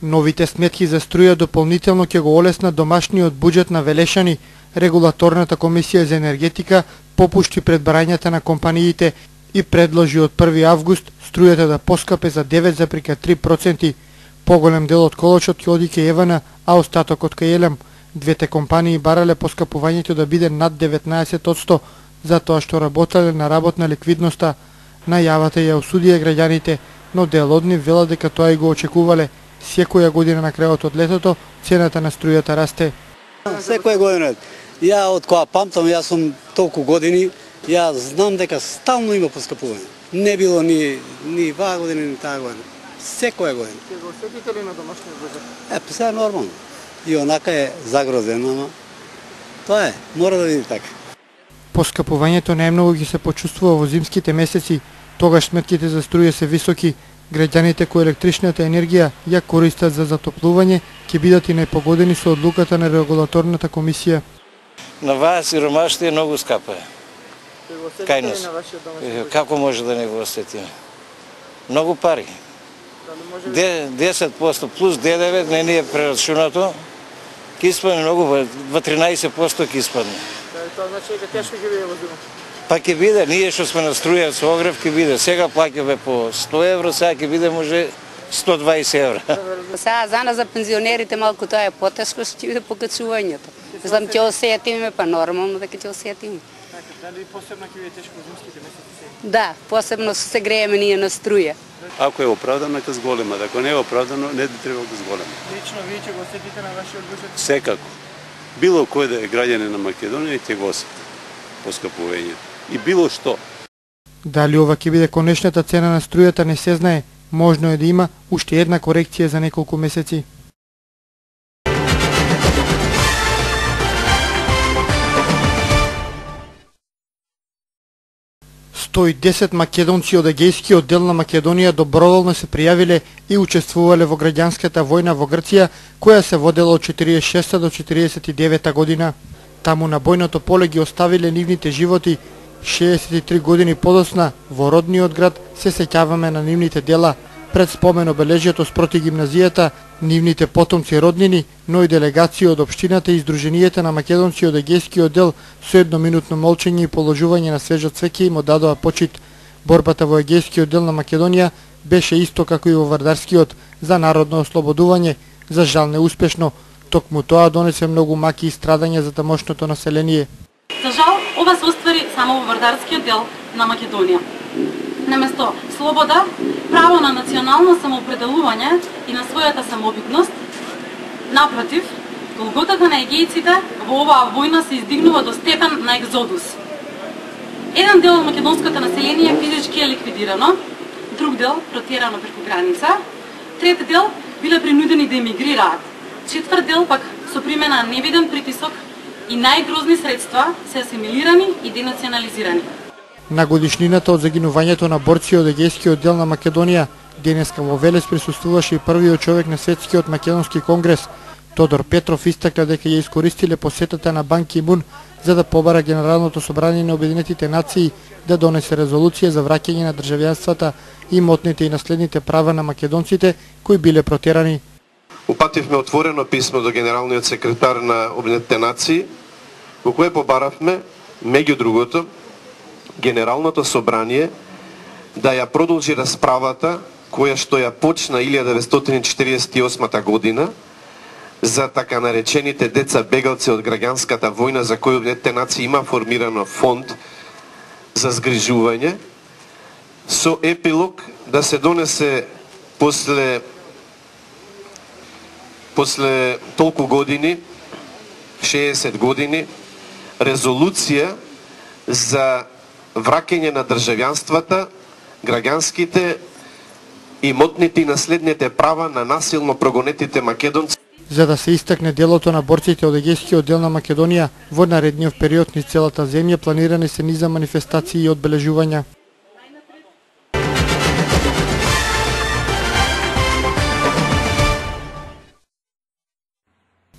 Новите сметки за струја дополнително ќе го олеснат домашниот буџет на Велешани. Регулаторната комисија за енергетика попушти пред барањата на компаниите и предложи од 1 август струјата да поскапе за 9,3%. Поголем дел од колочот ќе оди кај ЕВН, а остатокот кај ЕЛЕМ. Двете компании барале поскапувањето да биде над 19%, затоа што работеле на работна ликвидноста. Најавата ја осудија граѓаните, но дел од нив велат дека тоа и го очекувале. Секоја година на крајот од летото цената на струјата расте. Секоја година. Ја од кога памтам, јас сум толку години, ја знам дека стално има поскапување. Не било ни ваа година, ни таа година. Секоја година. Ќе го осетите ли на домашниот буџет? Сега нормално. И онака е загрозено, но тоа е, мора да види така. Поскапувањето најмногу ќе се почувствува во зимските месеци, тогаш сметките за струја се високи. Граѓаните кои електричната енергија ја користат за затоплување ќе бидат и најпогодени со одлуката на регулаторната комисија. На вас сиромаштво е многу скапа. Кај нас. Како може да не го осетиме? Многу пари. 10% плюс ДДВ не ни е прерачунато. Ке испадне многу, во 13% ке испадне. Тоа значи дека тешко ќе биде во зима. Па ќе биде, ние што сме на струја со огрев ќе биде. Сега плаќаме по 100 евро, сега ќе биде може 120 евро. Сега за нас, за пензионерите, малку тоа е потешко, што ќе биде покачувањето. Мислам, ќе осетиме, па нормално дека ќе осетиме. Дали посебно ќе биде тешко во зимските месеци? Да, посебно се грееме ние на струја. Ако е оправдано, нека зголема. Ако не е оправдано, не би требало да зголема. Лично вие ќе го осетите на вашиот буџет? Секако. Било кој да е граѓанин на Македонија ќе го осети поскапувањето. И било што. Дали ова ќе биде конечната цена на струјата не се знае. Можно е да има уште една корекција за неколку месеци. 110 македонци од егејскиот дел на Македонија доброволно се пријавиле и учествувале во граѓанската војна во Грција, која се водела од 46 до 49 година. Таму на бојното поле ги оставиле нивните животи. 63 години подоцна во родниот град се сеќаваме на нивните дела. Пред спомен обележјето спроти гимназијата, нивните потомци роднини, но и делегација од општината и издруженијата на македонци од егејскиот дел со едноминутно молчење и положување на свежо цвеќе им одадоа почит. Борбата во егејскиот дел на Македонија беше исто како и во Вардарскиот за народно ослободување, за жал неуспешно. Токму тоа донесе многу маки и страдања за тамошното население. За жал, ова се оствари само во Вардарскиот дел на Македонија. Наместо слобода, право на национално самоопределување и на својата самобитност, напротив, голготата на егејците во оваа војна се издигнува до степен на екзодус. Еден дел од македонското население физички е ликвидирано, друг дел протерано преку граница, трет дел биле принудени да емигрираат, четврт дел пак со примена на невиден притисок и најгрозни средства се асимилирани и денационализирани. На годишнината од загинувањето на борци од егејскиот дел на Македонија, денеска во Велес присуствуваше и првиот човек на Светскиот македонски конгрес. Тодор Петров истакна дека ја искористиле посетата на Бан Ки Мун за да побара Генералното собрание на Обединетите нации да донесе резолуција за враќање на државјанствата, имотните и наследните права на македонците кои биле протерани. Упативме отворено писмо до генералниот секретар на Обединетите нации, во кое побаравме, меѓу другото, Генералното собрание да ја продолжи расправата која што ја почна 1948 година за така наречените деца бегалци од граѓанската војна, за кои Обединетите нации има формирано фонд за згрижување, со епилог да се донесе после толку години, 60 години, резолуција за враќање на државјанствата, граѓанските, имотните и наследните права на насилно прогонетите македонци. За да се истакне делото на борците од егејскиот дел на Македонија, во наредниот период низ целата земја планирани се низа манифестации и одбележувања.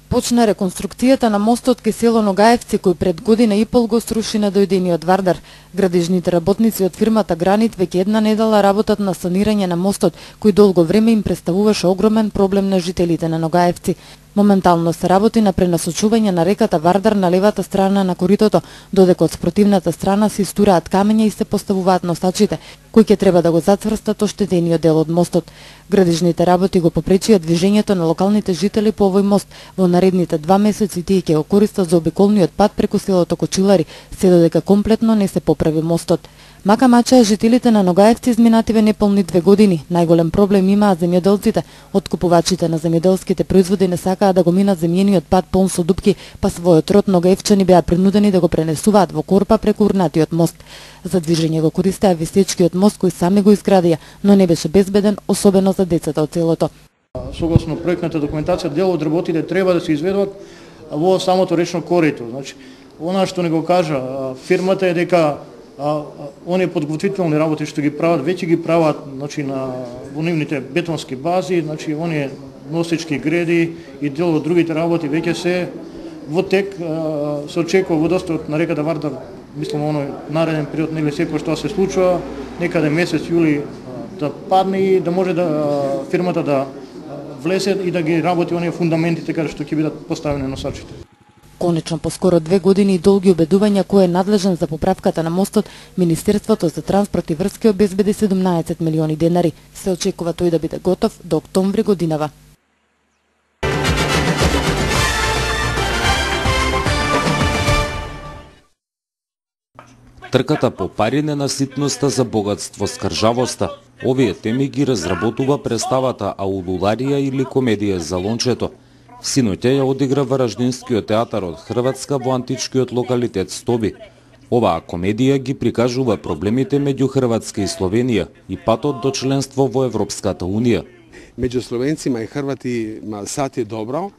Почна реконструкцијата на мостот кај село Ногаевци, кој пред година и пол го сруши на дојдениот Вардар. Градежните работници од фирмата Гранит веќе една недела работат на санирање на мостот, кој долго време им представуваше огромен проблем на жителите на Ногаевци. Моментално се работи на пренасочување на реката Вардар на левата страна на коритото, додека од спротивната страна се истураат камења и се поставуваат носачите, кои ќе треба да го зацврстат оштетениот дел од мостот. Градежните работи го попречија движењето на локалните жители по овој мост. Во наредните 2 месеци тие ќе го користат за обиколниот пат преку селото Кочилари, се додека комплетно не се поправи мостот. Мака мача жителите на Ногаевци изминативе неполни 2 години. Најголем проблем имаат земјоделците. Откупувачите на земјоделските производи не сакаат да го минат земјениот пат полн со дупки, па својот род Ногаевчани беа принудени да го пренесуваат во корпа преку урнатиот мост. За движење го користеа висечкиот мост кој сами го изградија, но не беше безбеден, особено за децата од селото. Согласно проектната документација, дел од работите треба да се изведуваат во самото речно корито. Значи, она што не го кажа фирмата е дека оние подготвителни работи што ги прават, веќе ги прават, значи во нивните бетонски бази, значи оние носечки греди и дел од другите работи веќе се во тек. Се очекува водостојот на реката Вардар, мислам оној нареден период негде секој што се случува, некаде месец јули да падне и да може да фирмата да влезе и да ги работи оние фундаментите каде што ќе бидат поставени носачите. Конечно, по скоро 2 години и долги обедувања кој е надлежен за поправката на мостот, Министерството за транспорт и врски обезбеди 17 милиони денари. Се очекува тој да биде готов до октомври годинава. Трката по пари, ненаситноста за богатство, скржавоста. Овие теми ги разработува представата Аулуларија или комедија за лончето. Синоќа ја одигра Вараждинскиот театар од Хрватска во античкиот локалитет Стоби. Оваа комедија ги прикажува проблемите меѓу Хрватска и Словенија и патот до членство во Европската Унија. Меѓу словенцима и хрватима сад е добро.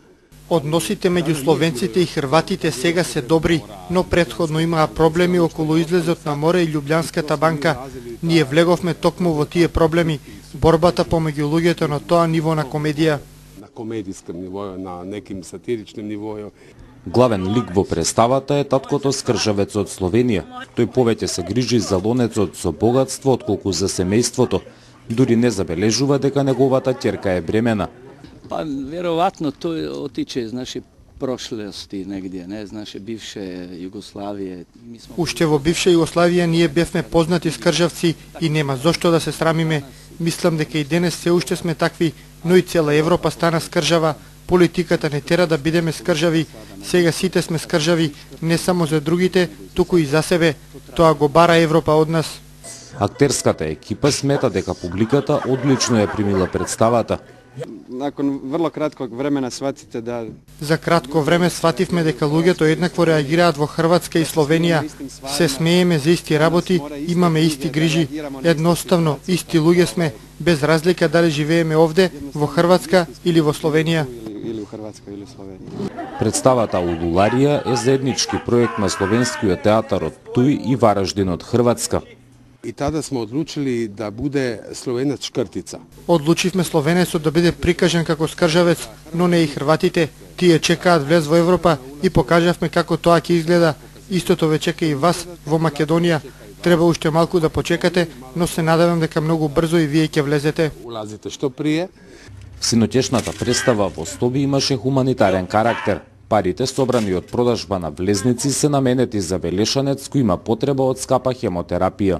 Односите меѓу словенците и хрватите сега се добри, но претходно имаа проблеми околу излезот на море и Љубљанската банка. Ние влеговме токму во тие проблеми, борбата помеѓу луѓето на тоа ниво на комедија. Комедиском нивоју, на неким сатиричним нивоју. Главен лик во представата е таткото скржавец од Словенија. Тој повеќе се грижи за лонецот со богатство отколку за семејството. Дури не забележува дека неговата ќерка е бремена. Па веројатно тој отиче, значи, прошлости негде, не, значи бивше Југославија. Уште во бивша Југославија ние бевме познати скржавци и нема зошто да се срамиме. Мислам дека и денес се уште сме такви, но и цела Европа стана скржава. Политиката не тера да бидеме скржави. Сега сите сме скржави, не само за другите, туку и за себе. Тоа го бара Европа од нас. Актерската екипа смета дека публиката одлично ја примила представата. Након врло кратког времена сватите да... За кратко време свативме дека луѓето еднакво реагираат во Хрватска и Словенија. Се смееме за исти работи, имаме исти грижи. Едноставно, исти луѓе сме, без разлика дали живееме овде, во Хрватска или во Словенија. Или во Хрватска или Словенија. Представата Аулуларија е заеднички проект на Словенскиот театар од Туј и Вараждин од Хрватска. И тада сме одлучили да биде словенец шкртица. Одлучивме словенецот да биде прикажан како скржавец, но не и хрватите. Тие чекаат влез во Европа и покажавме како тоа ќе изгледа. Истото ве чека и вас во Македонија. Треба уште малку да почекате, но се надевам дека многу брзо и вие ќе влезете. Улазите што прие. Синоќешната представа во Стоби имаше хуманитарен карактер. Парите собрани од продажба на влезници се наменети за Велешанец кој има потреба од скапа хемотерапија.